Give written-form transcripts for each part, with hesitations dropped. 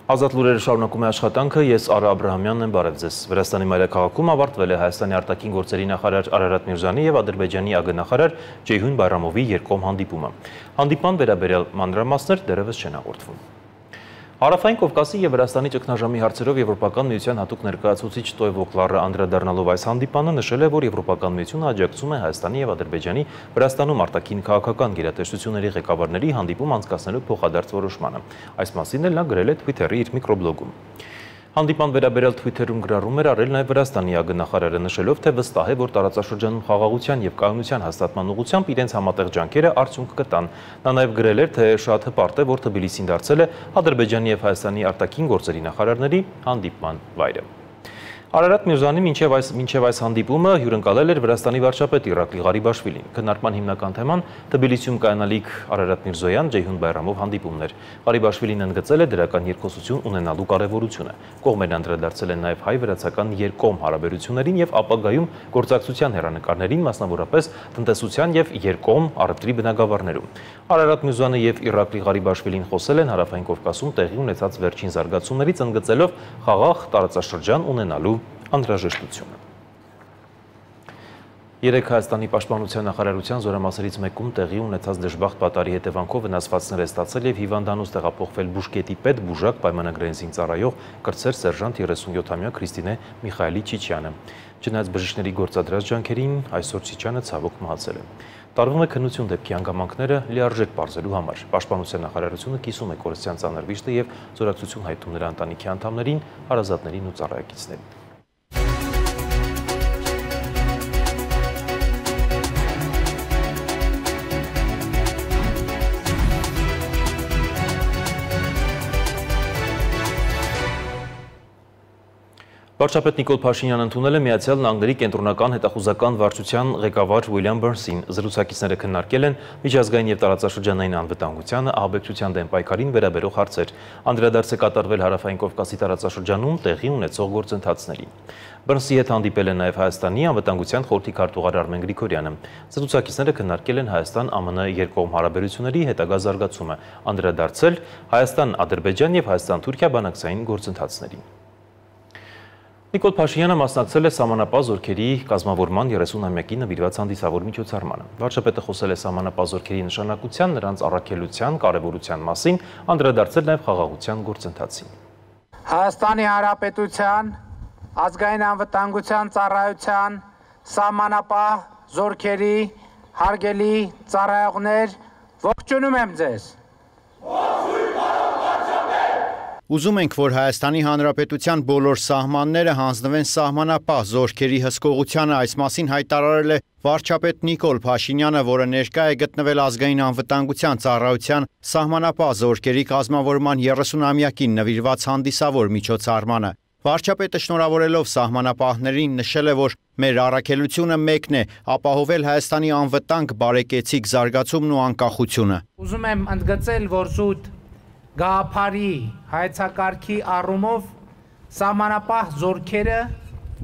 Ազատ լուրերը շարունակում է աշխատանքը, ես Արա Աբրահամյանն եմ, բարև ձեզ։ Վրաստանի մայրաքաղաքում ավարտվել է Հայաստանի արտաքին գործերի նախարար Արարատ Միրզյանի և Ադրբեջանի ԱԳ-նախարար Ceyhun Bayramovի երկկողմ հանդիպումը։ Հանդիպման վերաբերյալ մանրամասներ դեռևս չեն հաղորդվում։ Հարավային Կովկասի և Վրաստանի ճգնաժամի հարցերով Եվրոպական միության հատուկ ներկայացուցիչ Տոևո Կլարը անդրադառնալով այս հանդիպանը նշել է, որ Եվրոպական միությունը աջակցում է Հայաստանի և Ադրբեջանի Վրաստանում արտաքին քաղաքական գերատեսչությունների ղեկավարների հանդիպում անցկացնելու փոխադարձ որոշմանը։ Այս մասին էլ նա գրել է Twitter-ի իր միկրոբլոգում։ Հանդիպան վերաբերյալ Twitter-ում գրառում էր արել նաև Վրաստանի ԱԳ-նախարարը նշելով, թե վստահ է, որ տարածաշրջանում խաղաղության և կայունության հաստատման ուղղությամբ իրենց համատեղ ջանքերը արդյունք կտան։ Նա նաև գրել էր, թե շատ հպարտ է, որ Թբիլիսին դարձել է Ադրբեջանի և Հայաստանի արտաքին գործերի նախարարների հանդիպման վայրը։ Արարատ Միրզյանի մինչև այս հանդիպումը հյուրընկալել էր Վրաստանի վարչապետ Իրակլի Ղարիբաշվիլին։ Քննարկման հիմնական թեման Թբիլիսիում կայանալիք Արարատ Միրզոյան Ceyhun Bayramov հանդիպումն էր։ Ղարիբաշվիլին ընդգծել է դրական երկխոսություն ունենալու կարևորությունը։ Կողմերն անդրադարձել են նաև հայ-վրացական երկկողմ հարաբերություններին և ապագայում գործակցության հեռանկարներին, մասնավորապես տնտեսության և երկկողմ առևտրի բնագավառներում։ Արարատ Միրզյանը և Իրակլի Ղարիբաշվիլին խոսել են Հարավային Կովկասում տեղի ունեցած վերջին զարգացումներից, ընդգծելով խաղաղ տարածաշրջան ունենալու անհրաժեշտությունը։ Երեկ Հայաստանի պաշտպանության նախարարության զորամասերից մեկում տեղի ունեցած դժբախտ պատարի հետևանքով վնասվածքներ է ստացել և հիվանդանոց տեղափոխվել Բուշկետի պետբուժակ պայմանագրային զինծառայող կրտսեր սերժանտ 37-ամյա Քրիստինե Միխայելի Չիչյանը։ Չնայած բժիշկների գործադրած ջանքերին, այսօր Չիչյանը ցավոք մահացել է։ Տարվում է քննություն դեպքի հանգամանքները լիարժեք պարզելու համար։ Պաշտպանության նախարարությունը կիսում է կորստյան ծանր վիշտը և զորակցություն հայտնում նրա ընտանիքի անդամներին, հարազատներին ու ծառայակիցներին։ Վարչապետ Նիկոլ Փաշինյանը ընդունել է Միացյալ Նահանգների կենտրոնական հետախուզական վարչության ղեկավար Ուիլյամ Բըրնսին։ Զրուցակիցները քննարկել են միջազգային և տարածաշրջանային անվտանգությանը, ահաբեկչության դեմ պայքարին վերաբերող հարցեր։ Անդրադարձ է կատարվել Հարավային Կովկասի տարածաշրջանում տեղի ունեցող գործընթացներին։ Բըրնսի հետ հանդիպել է նաև Հայաստանի անվտանգության խորհրդի քարտուղար Արմեն Գրիգորյանը։ Զրուցակիցները քննարկել են Հայաստան-ԱՄՆ երկկողմ հարաբերությունների հետագա զարգացումը, անդրադարձել Հայաստան-Ադրբեջան և Հայաստան-Թուրքիա բանակցային գործընթացներին։ Նիկոլ Փաշինյանը մասնակցել է սահմանապահ զորքերի կազմավորման 30-ամյակի նվիրված հանդիսավոր միջոցառմանը։ Վարչապետը խոսել է սահմանապահ զորքերի նշանակության, նրանց առաքելության կարևորության մասին, անդրադարձել նաև խաղաղության գործընթացին։ Հայաստանի Հանրապետության ազգային անվտանգության ծառայության սահմանապահ զորքերի հարգելի ծառայողներ, ողջունում եմ ձեզ։ Ուզում ենք, որ Հայաստանի Հանրապետության բոլոր սահմանները հանձնվեն սահմանապահ զորքերի հսկողությանը, այս մասին հայտարարել է վարչապետ Նիկոլ Փաշինյանը, որը ներկա է գտնվել ազգային անվտանգության ծառայության սահմանապահ զորքերի կազմավորման 30-ամյակին նվիրված հանդիսավոր միջոցառմանը։ Վարչապետը շնորհավորելով սահմանապահներին նշել է, որ մեր առաքելությունը մեկն է՝ ապահովել Հայաստանի անվտանգ, բարեկեցիկ զարգացումն ու անկախությունը։ Ուզում եմ ընդգծել, որ զուտ գաղափարի հայեցակարգի առումով սահմանապահ զորքերը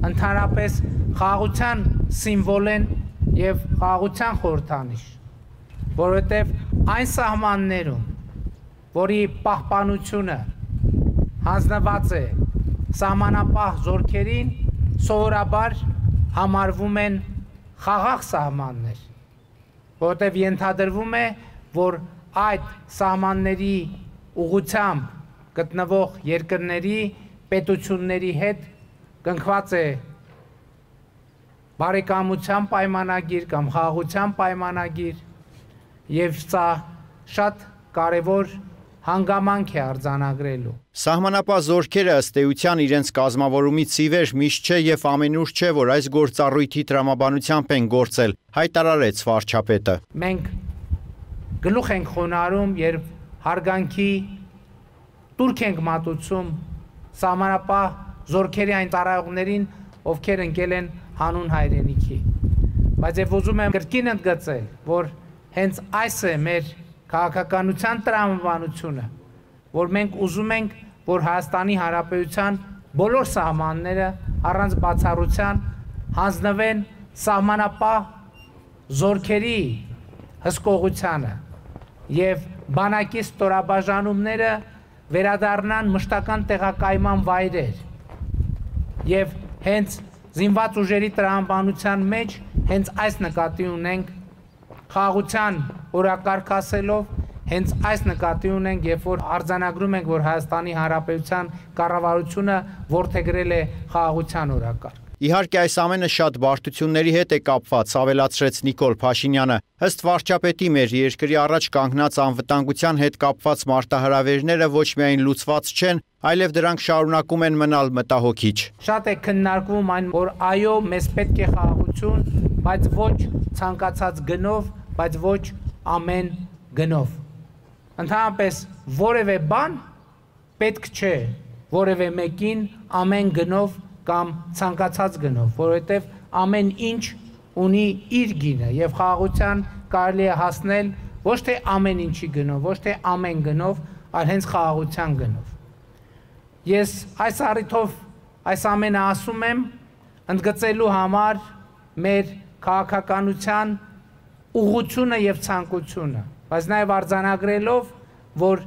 ընդհանրապես խաղաղության սիմվոլ են և խաղաղության խորհրդանիշ, որովհետև այն սահմաններում, որի պահպանությունը հանձնված է սահմանապահ զորքերին, սովորաբար համարվում են խաղաղ սահմաններ, որովհետև ենթադրվում է, որ այդ սահմանների ուղղությամբ գտնվող երկրների պետությունների հետ կնքված է բարեկամության պայմանագիր կամ խաղաղության պայմանագիր, և սա շատ կարևոր հանգամանք է արձանագրելու։ Սահմանապահ զորքերը ըստ էության իրենց կազմավորումից ի վեր միշտ չէ և ամենուր չէ, որ այս գործառույթի տրամաբանությամբ են գործել, հայտարարեց վարչապետը։ Մենք գլուխ ենք խոնարհում, երբ հարգանքի տուրք ենք մատուցում սահմանապահ զորքերի այն ծառայողներին, ովքեր ընկել են հանուն հայրենիքի։ Բայց եւ ուզում եմ կրկին ընդգծել, որ հենց այս է մեր քաղաքականության տրամաբանությունը, որ մենք ուզում ենք, որ Հայաստանի Հանրապետության բոլոր սահմանները առանց բացառության հանձնվեն սահմանապահ զորքերի հսկողությանը և բանակի ստորաբաժանումները վերադառնան մշտական տեղակայման վայրեր եւ հենց զինված ուժերի տրամաբանության մեջ հենց այս նկատի ունենք խաղաղության օրակարգ ասելով հենց այս նկատի ունենք երբ որ արձանագրում ենք որ Հայաստանի Հանրապետության կառավարությունը որդեգրել է խաղաղության օրակարգ Իհարկե այս ամենը շատ բարդությունների հետ է կապված, ավելացրեց Նիկոլ Փաշինյանը։ Ըստ վարչապետի մեր երկրի առաջ կանգնած անվտանգության հետ կապված մարտահրավերները ոչ միայն լուծված չեն, այլև դրանք շարունակում են մնալ մտահոգիչ։ Շատ է քննարկվում այն, որ այո, մեզ պետք է խաղաղություն, բայց ոչ ցանկացած գնով, բայց ոչ ամեն գնով։ Ընդհանրապես որևէ բան պետք չէ որևէ մեկին ամեն գնով կամ ցանկացած գնով, որովհետև ամեն ինչ ունի իր գինը եւ խաղաղության կարելի է հասնել ոչ թե ամեն ինչի գնով, ոչ թե ամեն գնով, այլ հենց խաղաղության գնով։ Ես այս առիթով այս ամենը ասում եմ ընդգծելու համար մեր քաղաքականության ուղղությունը եւ ցանկությունը, բայց նաեւ արձանագրելով, որ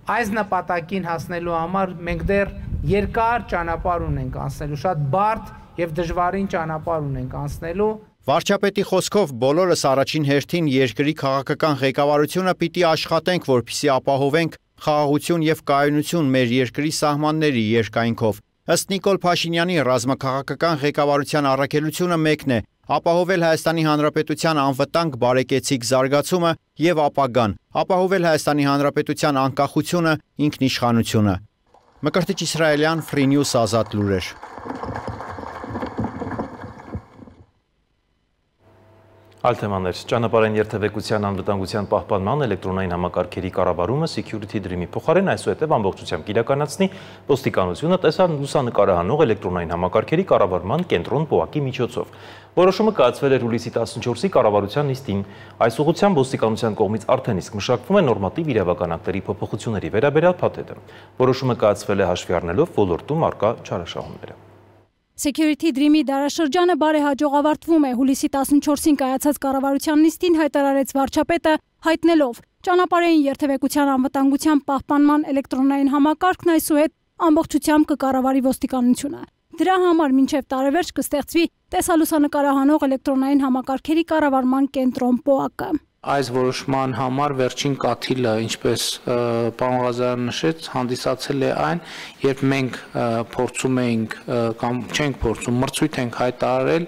այս նպատակին հասնելու համար մենք դեռ երկար ճանապարհ ունենք անցնելու, շատ բարդ եւ դժվարին ճանապարհ ունենք անցնելու։ Վարչապետի խոսքով բոլորս առաջին հերթին երկրի քաղաքական ղեկավարությունը պիտի աշխատենք, որպեսզի ապահովենք խաղաղություն եւ կայունություն մեր երկրի սահմանների երկայնքով։ Ըստ Նիկոլ Փաշինյանի ռազմաքաղաքական ղեկավարության առաքելությունը մեկն է՝ ապահովել Հայաստանի Հանրապետության անվտանգ բարեկեցիկ զարգացումը եւ ապագան, ապահովել Հայաստանի Հանրապետության անկախությունը, ինքնիշխանությունը։ Մկրտիչ Իսրայելյան, Free News ազատ լուրեր։ Այլ թեմաներ, ճանապարհային երթևեկության անվտանգության պահպանման էլեկտրոնային համակարգերի կառավարումը Security Dream-ի փոխարեն այսուհետև ամբողջությամբ իրականացնի ոստիկանությունը լուսանկարահանող էլեկտրոնային համակարգերի կառավարման կենտրոն ՊՕԱԿ-ի միջոցով։ Որոշումը կայացվել էր հուլիսի 14-ի կառավարության նիստին։ Այս ուղղությամբ ոստիկանության կողմից արդեն իսկ մշակվում է նորմատիվ իրավական ակտերի փոփոխությունների վերաբերյալ փաթեթը։ Որոշումը կայացվել է հաշվի առնելով ոլորտում առկա չարաշահումները։ Security Dream-ի դարաշրջանը բարեհաջող ավարտվում է, հուլիսի 14-ին կայացած կառավարության նիստին հայտարարեց վարչապետը, հայտնելով ճանապարհային երթևեկության անվտանգության պահպանման էլեկտրոնային համակարգն այսուհետ ամբողջությամբ կկառավարի ոստիկանությունը։ Դրա համար մինչև տարեվերջ կստեղծվի տեսալուսանկարահանող էլեկտրոնային համակարգերի կառավարման կենտրոն ՊՕԱԿ-ը։ Այս որոշման համար վերջին կաթիլը, ինչպես պարոն Ղազարյանը նշեց, հանդիսացել է այն, երբ մենք փորձում էինք կամ չենք փորձում, մրցույթ ենք հայտարարել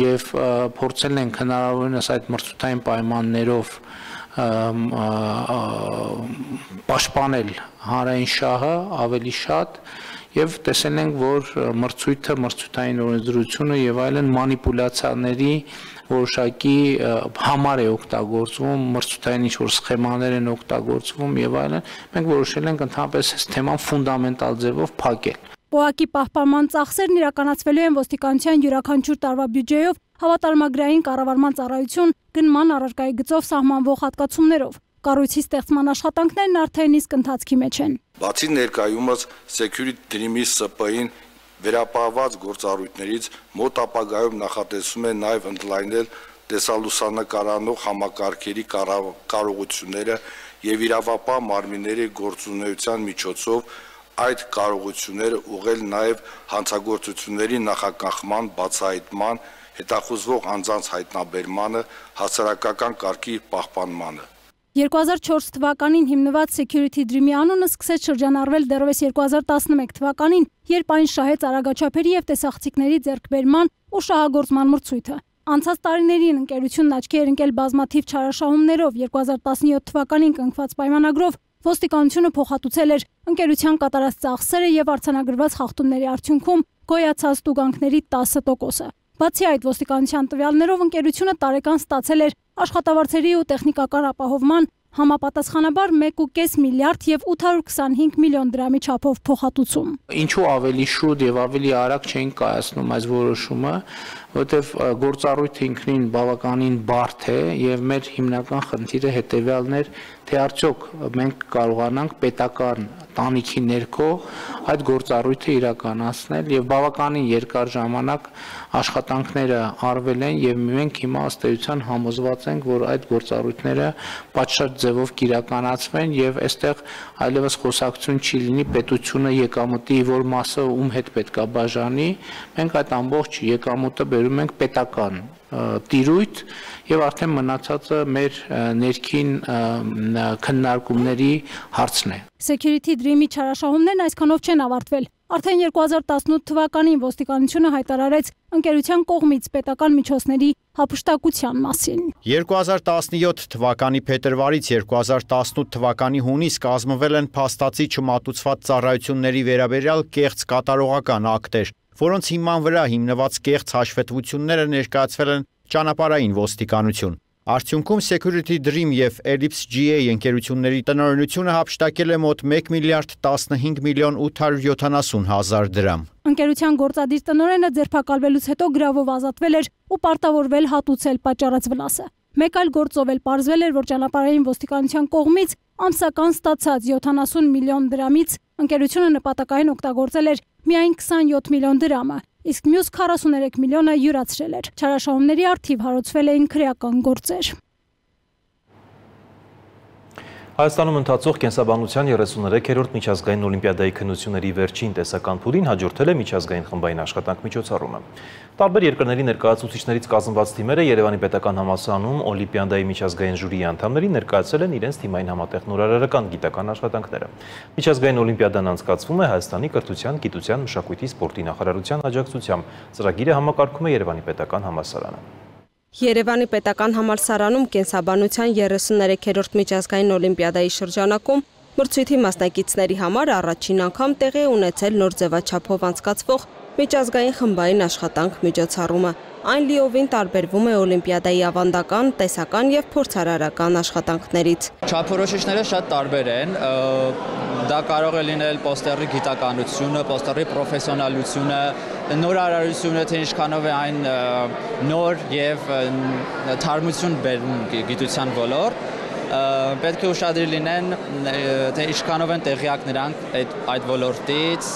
եւ փորձել ենք հնարավորինս այդ մրցութային պայմաններով պաշտպանել հանրային շահը ավելի շատ եւ տեսել ենք, որ մրցույթը, մրցութային օրենսդրությունը եւ այլն մանիպուլյացիաների որոշակի համար է օգտագործվում, մրցութային ինչ-որ սխեմաներ են օգտագործվում եւ այլն, մենք որոշել ենք ընդհանրապես այս թեման ֆունդամենտալ ձևով փակել։ ՊՕԱԿ-ի պահպանման ծախսերն իրականացվելու են ոստիկանության յուրաքանչյուր տարվա բյուջեով, հավատարմագրային կառավարման ծառայություն, գնման առարկայի գծով սահմանվող հատկացումներով։ Կառույցի ստեղծման աշխատանքներն արդեն իսկ ընթացքի մեջ են։ Բացի ներկայումս Security Dream-ի ՍՊ-ին վերապահված գործառույթներից մոտ ապագայում նախատեսում է նաև ընդլայնել տեսալուսանկարանող համակարգերի կարողությունները եւ իրավապահ մարմինների գործունեության միջոցով այդ կարողությունները ուղղել նաև հանցագործությունների նախագծման, բացահայտման, հետախուզվող անձանց հայտնաբերմանը, հասարակական կարգի պահպանմանը։ 2004 թվականին հիմնված Security Dream-ի անունը սկսեց շրջանառվել դեռևս 2011 թվականին, երբ այն շահեց արագաչափերի եւ տեսախցիկների ձեռքբերման ու շահագործման մրցույթը։ Անցած տարիներին ընկերությունն աչքի էր ընկել բազմաթիվ չարաշահումներով, 2017 թվականին կնքված պայմանագրով ոստիկանությունը փոխհատուցել էր ընկերության կատարած ծախսերը եւ արձանագրված խախտումների արդյունքում գոյացած տուգանքների 10%-ը։ Բացի այդ, ոստիկանության տվյալներով ընկերությունը տարեկան ստացել էր աշխատավարձերի ու տեխնիկական ապահովման համապատասխանաբար 1.5 միլիարդ եւ 825 միլիոն դրամի չափով փոխհատուցում։ Ինչու ավելի շուտ եւ ավելի արագ չէին կայացնում այս որոշումը, որովհետեւ գործառույթը ինքնին բավականին բարդ է եւ մեր հիմնական խնդիրը հետեւյալն էր, թե արդյոք մենք կարողանանք պետական տանիքի ներքո այդ գործառույթը իրականացնել եւ բավականին երկար ժամանակ աշխատանքները արվել են եւ մենք հիմա ըստ էության համոզված ենք, որ այդ գործառույթները պատշաճ ձևով կիրականացվեն եւ այստեղ այլևս խոսակցություն չի լինի պետությունը եկամուտի որ մասը ում հետ պետքա բաժանի, մենք այդ ամբողջ եկամուտը բերում ենք պետական տիրույթ եւ արդեն մնացածը մեր ներքին քննարկումների հարցն է։ Security Dream-ի չարաշահումներն այսքանով չեն ավարտվել։ Արդեն 2018 թվականին ոստիկանությունը հայտարարեց ընկերության կողմից պետական միջոցների հափշտակության մասին։ 2017 թվականի փետրվարից 2018 թվականի հունիս կազմվել են փաստացի չմատուցված ծառայությունների վերաբերյալ կեղծ կատարողական ակտեր, որոնց հիման վրա հիմնված կեղծ հաշվետվությունները ներկայացվել են ճանապարհային ոստիկանություն։ Արդյունքում Security Dream եւ Ellipse GA ընկերությունների տնօրինությունը հափշտակել է մոտ 1 միլիարդ 15 միլիոն 870 հազար դրամ։ Ընկերության գործադիր տնօրենը ձերբակալվելուց հետո գրավով ազատվել էր ու պարտավորվել հատուցել պատճառած վնասը։ Մեկ այլ գործով էլ պարզվել էր, որ ճանապարհային ոստիկանության կողմից ամսական ստացած 70 միլիոն դրամից ընկերությունը նպատակային օգտագործել էր միայն 27 միլիոն դրամը, իսկ մյուս 43 միլիոնը յուրացրել էր։ Չարաշահումների առթիվ հարուցվել էին քրեական գործեր։ Հայաստանում ընթացող կենսաբանության 33-րդ միջազգային օլիմպիադայի քննությունների վերջին տեսական փուլին հաջորդել է միջազգային խմբային աշխատանք միջոցառումը։ Տարբեր երկրների ներկայացուցիչներից կազմված թիմերը Երևանի պետական համալսարանում օլիմպիադայի միջազգային ժյուրիի անդամներին ներկայացրել են իրենց թիմային համատեղ նորարարական գիտական աշխատանքները։ Միջազգային օլիմպիադան անցկացվում է Հայաստանի կրթության, գիտության, մշակույթի, սպորտի նախարարության աջակցությամբ։ Ծրագիրը համակարգում է Երևանի պետական համալսարանը։ Երևանի պետական համալսարանում կենսաբանության 33-րդ միջազգային օլիմպիադայի շրջանակում մրցույթի մասնակիցների համար առաջին անգամ տեղի է ունեցել նոր ձևաչափով անցկացվող միջազգային խմբային աշխատանք միջոցառումը։ Այն լիովին տարբերվում է օլիմպիադայի ավանդական, տեսական եւ փորձարարական աշխատանքներից։ Չափորոշիչները շատ տարբեր են։ Դա կարող է լինել պոստերի գիտականությունը, պոստերի պրոֆեսիոնալությունը, նորարարությունը, թե ինչքանով է այն նոր եւ թարմություն բերում գիտության ոլորտ։ Պետք է ուշադիր լինեն, թե ինչքանով են տեղյակ նրանք այդ ոլորտից,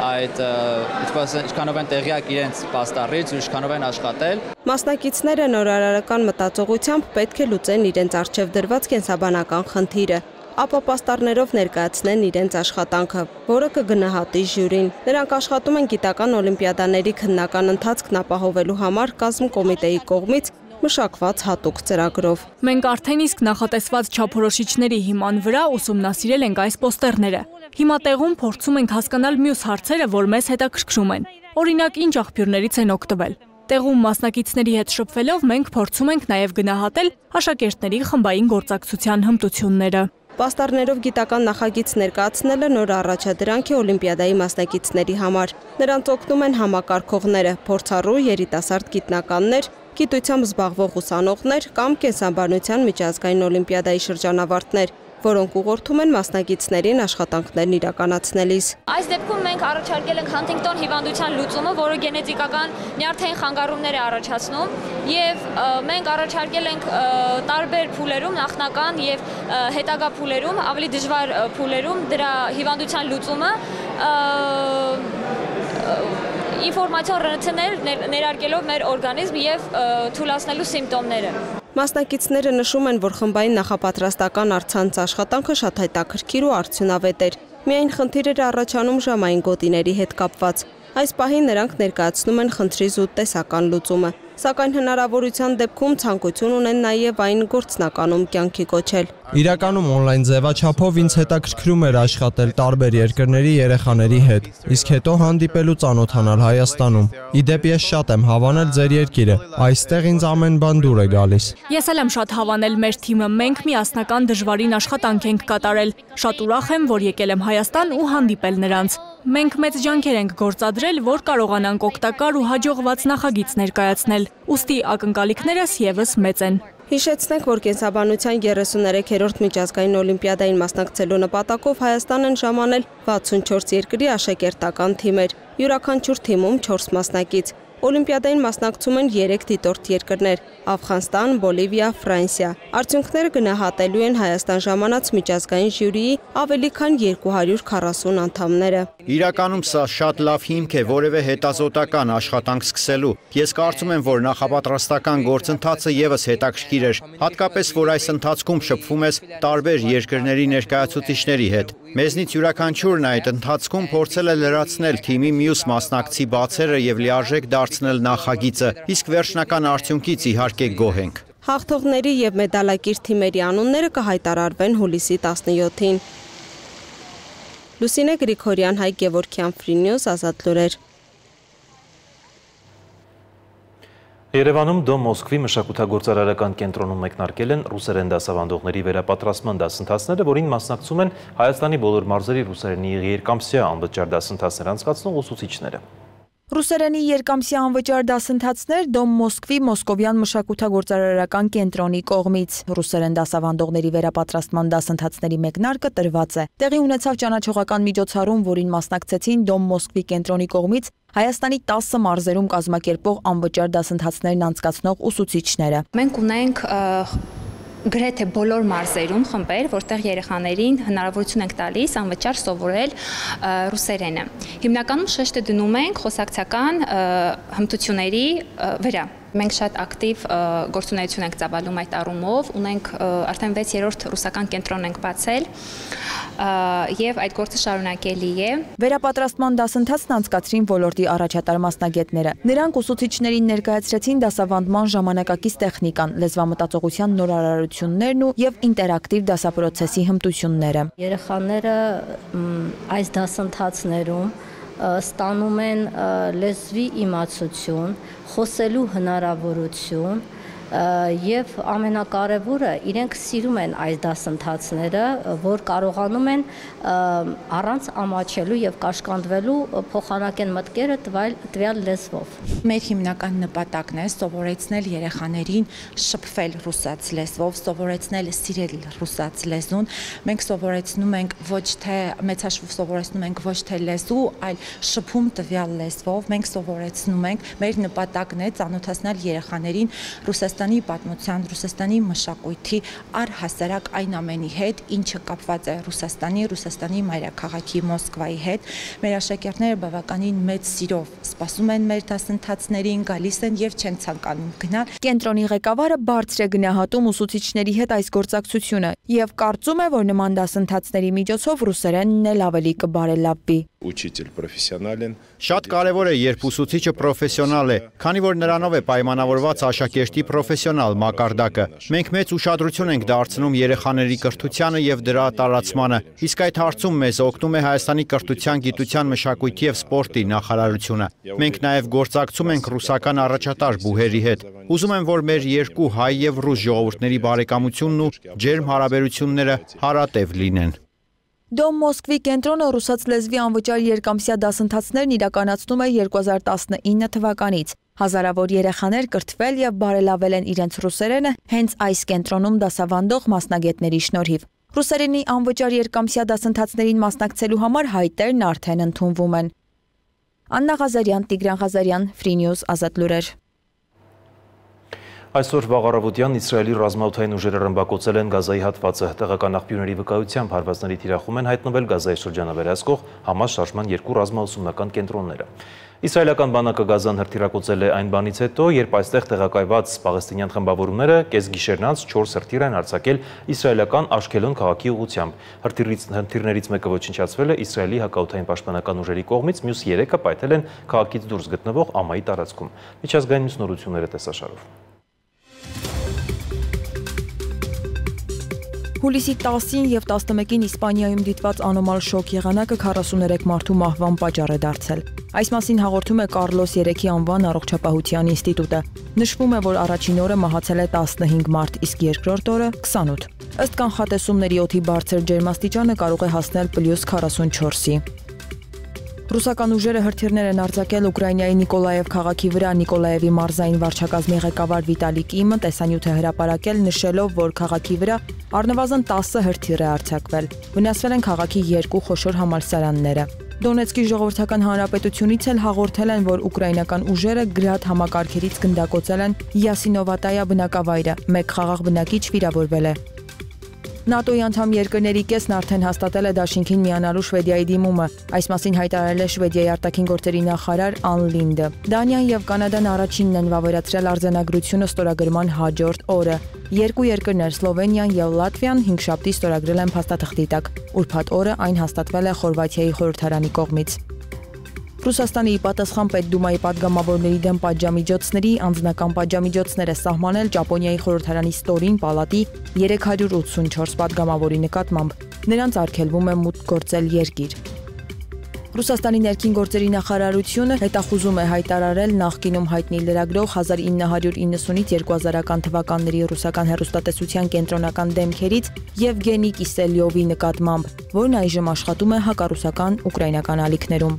ինչքանով են տեղյակ իրենց պաստառից ու ինչքանով են աշխատել։ Մասնակիցները նորարարական մտածողությամբ պետք է լուծեն իրենց առջև դրված կենսաբանական խնդիրը, ապա պաստառներով ներկայացնեն իրենց աշխատանքը, որը կգնահատի ժյուրին։ Նրանք աշխատում են գիտական օլիմպիադաների քննական ընթացքն ապահովելու համար կազմկոմիտեի կողմից մշակված հատուկ ծրագրով։ Մենք արդեն իսկ նախատեսված չափորոշիչների հիման վրա ուսումնասիրել ենք այս պոստերները։ Հիմա տեղում փորձում ենք հասկանալ մյուս հարցերը, որ մեզ հետաքրքրում են։ Օրինակ, ինչ աղբյուրներից են օգտվել։ Տեղում մասնակիցների հետ շփվելով մենք փորձում ենք նաև գնահատել աշակերտների խմբային գործակցության հմտությունները։ Պաստառներով գիտական նախագիծ ներկայացնելը նոր առաջադրանք է օլիմպիադայի մասնակիցների համար։ Նրանց օգնում են համակարգողները, փորձառու երիտասարդ գիտնականներ, գիտությամբ զբաղվող ուսանողներ կամ կենսաբանության միջազգային օլիմպիադայի շրջանավարտներ, որոնք ուղղորդում են մասնակիցներին աշխատանքներն իրականացնելիս։ Այս դեպքում մենք առաջարկել ենք Հանթինգտոն հիվանդության լուծումը, որը գենետիկական նյարդային խանգարումներ է առաջացնում, եւ մենք առաջարկել ենք տարբեր փուլերում, նախնական եւ հետագա փուլերում, ավելի դժվար փուլերում դրա հիվանդության լուծումը ինֆորմացիոն ռնցներ ներարկելով մեր օրգանիզմ եւ թույլատնելու սիմպտոմները։ Մասնակիցները նշում են, որ խմբային նախապատրաստական առցանց աշխատանքը շատ հետաքրքիր ու արդյունավետ էր։ Միայն խնդիր էր առաջանում ժամային գոտիների հետ կապված։ Այս պահին նրանք ներկայացնում են խնդրի զուտ տեսական լուծումը, սակայն հնարավորության դեպքում ցանկություն ունեն նաև այն գործնականում կյանքի կոչել։ Իրականում օնլայն ձևաչափով ինձ հետաքրքրում էր աշխատել տարբեր երկրների երեխաների հետ, իսկ հետո հանդիպել ու ծանոթանալ Հայաստանում։ Ի դեպ ես շատ եմ հավանել ձեր երկիրը, այստեղ ինձ ամեն բան դուր է գալիս։ Ես էլ եմ շատ հավանել մեր թիմը, մենք միասնական դժվարին աշխատանք ենք կատարել։ Շատ ուրախ եմ, որ եկել եմ Հայաստան ու հանդիպել նրանց։ Մենք մեծ ջանքեր ենք գործադրել, որ կարողանանք օգտակար ու հաջողված նախագիծ ներկայացնել, ուստի ակնկալիքներս ևս մեծ են։ Հիշեցնենք, որ կենսաբանության 33-րդ միջազգային օլիմպիադային մասնակցելու նպատակով Հայաստան են ժամանել 64 երկրի աշակերտական թիմեր, յուրաքանչյուր թիմում 4 մասնակից։ Օլիմպիադային մասնակցում են 3 դիտորդ երկրներ՝ Աֆղանստան, Բոլիվիա, Ֆրանսիա։ Արդյունքները գնահատելու են Հայաստան ժամանած միջազգային ժյուրիի ավելի քան 240 անդամները։ Իրականում սա շատ լավ հիմք է որևէ հետազոտական աշխատանք սկսելու։ Ես կարծում եմ, որ նախապատրաստական գործընթացը ևս հետաքրքիր էր, հատկապես որ այս ընթացքում շփվում ես տարբեր երկրների ներկայացուցիչների հետ։ Մեզնից յուրաքանչյուրն այդ ընթացքում փորձել է լրացնել թիմի մյուս մասնակցի բացերը եւ լիարժեք դարձնել նախագիծը, իսկ վերջնական արդյունքից իհարկե գոհ ենք։ Հաղթողների եւ մեդալակիր թիմերի անունները կհայտարարվեն հուլիսի 17-ին։ Լուսինե Գրիգորյան, Հայկ Գևորգյան, Free News, Ազատ լուրեր։ Երևանում Դոմ Մոսկվի մշակութագործարարական կենտրոնում մեկնարկել են ռուսերեն դասավանդողների վերապատրաստման դասընթացները, որին մասնակցում են Հայաստանի բոլոր մարզերի ռուսերենի երկամսյա անվճար դասընթացներ անցկացնող ուսուցիչները։ Ռուսերենի երկամսյա անվճար դասընթացներ Դոմ Մոսկվի Մոսկովյան մշակութագործարարական կենտրոնի կողմից։ Ռուսերեն դասավանդողների վերապատրաստման դասընթացների մեկնարկը տրված է։ Տեղի ունեցավ ճանաչողական միջոցառում, որին մասնակցեցին Դոմ Մոսկվի կենտրոնի կողմից Հայաստանի 10 մարզերում կազմակերպող անվճար դասընթացներն անցկացնող ուսուցիչները։ Մենք ունենք գրեթե բոլոր մարզերում խմբեր, որտեղ երեխաներին հնարավորություն ենք տալիս անվճար սովորել ռուսերենը։ Հիմնականում շեշտը դնում ենք խոսակցական հմտությունների վրա։ Մենք շատ ակտիվ գործունեություն ենք ծավալում այդ առումով, ունենք արդեն 6-րդ ռուսական կենտրոն ենք բացել եւ այդ գործը շարունակելի է։ Վերապատրաստման դասընթացն անցկացրին ոլորտի առաջատար մասնագետները։ Նրանք ուսուցիչներին ներկայացրեցին դասավանդման ժամանակակից տեխնիկան, լեզվամտածողության նորարարություններն ու եւ ինտերակտիվ դասապրոցեսի հմտությունները։ Երեխաները այս դասընթացներում ստանում են լեզվի իմացություն, խոսելու հնարավորություն եւ ամենակարևորը իրենք սիրում են այս դասընթացները, որ կարողանում են առանց ամաչելու եւ կաշկանդվելու փոխանակեն մտքերը տվյալ լեզվով։ Մեր հիմնական նպատակն է սովորեցնել երեխաներին շփվել ռուսաց լեզվով, սովորեցնել սիրել ռուսաց լեզուն։ Մենք սովորեցնում ենք ոչ թե մեծաշվով սովորեցնում ենք ոչ թե լեզու, այլ շփում տվյալ լեզվով։ Մենք սովորեցնում ենք, մեր նպատակն է ծանոթացնել երեխաներին Ռուսաստանի պատմության, Ռուսաստանի մշակույթի առհասարակ այն ամենի հետ, ինչը կապված է Ռուսաստանի մայրաքաղաքի Մոսկվայի հետ։ Մեր աշակերտները բավականին մեծ սիրով սպասում են մեր դասընթացներին, գալիս են եւ չեն ցանկանում գնալ։ Կենտրոնի ղեկավարը բարձր է գնահատում ուսուցիչների հետ այս գործակցությունը եւ կարծում է, որ նման դասընթացների միջոցով ռուսերենն էլ ավելի կբարելավվի։ Учитель профессионален։ Շատ կարևոր է, երբ ուսուցիչը պրոֆեսիոնալ է, քանի որ նրանով է պայմանավորված աշակերտի պրոֆեսիոնալ մակարդակը։ Մենք մեծ ուշադրություն ենք դարձնում երեխաների կրթությանը եւ դրա տարածմանը, իսկ այդ հարցում մեզ օգնում է Հայաստանի կրթության, գիտության, մշակույթի եւ սպորտի նախարարությունը։ Մենք նաեւ գործակցում ենք ռուսական առաջատար բուհերի հետ։ Ուզում եմ, որ մեր երկու հայ եւ ռուս ժողովուրդների բարեկամությունն ու ջերմ հարաբերությունները հարատև լինեն։ Դոմ Մոսկվի կենտրոնը ռուսաց լեզվի անվճար երկամսյա դասընթացներն իրականացնում է 2019 թվականից։ Հազարավոր երեխաներ կրթվել եւ բարելավել են իրենց ռուսերենը հենց այս կենտրոնում դասավանդող մասնագետների շնորհիվ։ Ռուսերենի անվճար երկամսյա դասընթացներին մասնակցելու համար հայտերն արդեն ընդունվում են։ Աննա Ղազարյան, Տիգրան Ղազարյան, Free News, Ազատ լուրեր։ Այսօր վաղ առավոտյան Իսրայելի ռազմաօդային ուժերը ռմբակոծել են Գազայի հատվածը։ Տեղական աղբյուրների վկայությամբ հարվածների թիրախում են հայտնվել Գազայի շրջանավերահսկող Համաս շարժման 2 ռազմաուսումնական կենտրոնները։ Իսրայելական բանակը Գազան հրթիռակոծել է այն բանից հետո, երբ այստեղ տեղակայված պաղեստինյան խմբավորումները կեսգիշերնից 4 հրթիռ են արձակել իսրայելական Աշքելոն քաղաքի ուղղությամբ։ Հրթիռներից մեկը ոչնչացվել է Իսրայելի հակաօդային պաշտպանական ուժերի կողմից, մյուս 3-ը պայթել են քաղաքից դուրս գտնվող Ամայի տարածքում։ Միջազգային մյուս նորությունները տեսաշարով։ Հուլիսի 10-ին եւ 11-ին Իսպանիայում դիտված անոմալ շոկ եղանակը 43 մարդու մահվան պատճառ է դարձել։ Այս մասին հաղորդում է Կարլոս 3-ի անվան առողջապահության ինստիտուտը։ Նշվում է, որ առաջին օրը մահացել է 15 մարդ, իսկ երկրորդ օրը 28։ Ըստ կանխատեսումների օդի բարձր ջերմաստիճանը կարող է հասնել +44-ի։ Ռուսական ուժերը հրթիռներ են արձակել Ուկրաինայի Նիկոլաև քաղաքի վրա։ Նիկոլաևի մարզային վարչակազմի ղեկավար Վիտալի Կիմը տեսանյութ է հրապարակել, նշելով, որ քաղաքի վրա առնվազն 10 հրթիռ է արձակվել։ Վնասվել են քաղաքի 2 խոշոր համալսարանները։ Դոնեցկի ժողովրդական հանրապետությունից էլ հաղորդել են, որ ուկրաինական ուժերը գրադ համակարգերից գնդակոծել են Յասինովատայա բնակավայրը, մեկ խաղաղ բնակիչ վիրավորվել է։ ՆԱՏՕ-ի անդամ երկրների կեսն արդեն հաստատել է դաշինքին միանալու Շվեդիայի դիմումը։ Այս մասին հայտարարել է Շվեդիայի արտաքին գործերի նախարար Ան Լինդը։ Դանիան եւ Կանադան առաջինն են վավերացրել արձանագրությունը ստորագրման հաջորդ օրը։ Երկու երկրներ Սլովենիան եւ Լատվիան հինգշաբթի ստորագրել են փաստաթղթի տակ։ Ուրբաթ օրը այն հաստատվել է Խորվաթիայի խորհրդարանի կողմից։ Ռուսաստանի պատասխան Պետդումայի падգամավորների դեմ պատժամիջոցների անձնական պատժամիջոցներ է սահմանել Ճապոնիայի խորհրդարանի ստորին պալատի 384 падգամավորի նկատմամբ։ Նրանց արգելվում է մուտք գործել երկիր։ Ռուսաստանի ներքին գործերի նախարարությունը հետախուզում է հայտարարել նախկինում հայտնի լրագրող 1990-ից 2000-ական թվականների ռուսական հեռուստատեսության կենտրոնական դեմքերից Եվգենի Կիսելյովի նկատմամբ, որն այժմ աշխատում է հակառուսական ուկրաինական ալիքներում։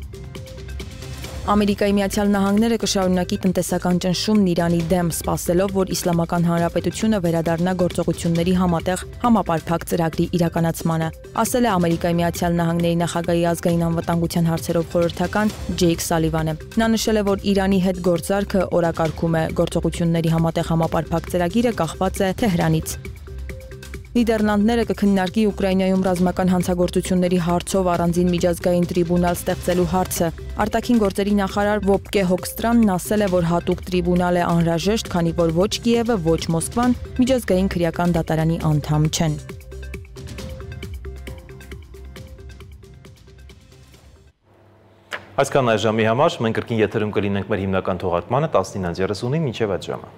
Ամերիկայի Միացյալ Նահանգները կշարունակի տնտեսական ճնշումն Իրանի դեմ, սպասելով, որ Իսլամական Հանրապետությունը վերադառնա գործողությունների համատեղ համապարփակ ծրագրի իրականացմանը, ասել է Ամերիկայի Միացյալ Նահանգների նախագահի ազգային անվտանգության հարցերով խորհրդական Ջեյք Սալիվանը։ Նա նշել է, որ Իրանի հետ գործարքը օրակարգում է, գործողությունների համատեղ համապարփակ ծրագիրը կախված է Թեհրանից։ Նիդերլանդները կքննարկի Ուկրաինայում ռազմական հանցագործությունների հարցով առանձին միջազգային տրիբունալ ստեղծելու հարցը։ Արտաքին գործերի նախարար Վոբկե Հոկստրանն ասել է, որ հատուկ տրիբունալ է անհրաժեշտ, քանի որ ոչ Կիևը, ոչ Մոսկվան միջազգային քրեական դատարանի անդամ չեն։ Այսքան այս ժամի համար մենք կրկին եթերում կլինենք մեր հիմնական թողարկմանը 19:30-ին մինչև այդ ժամը։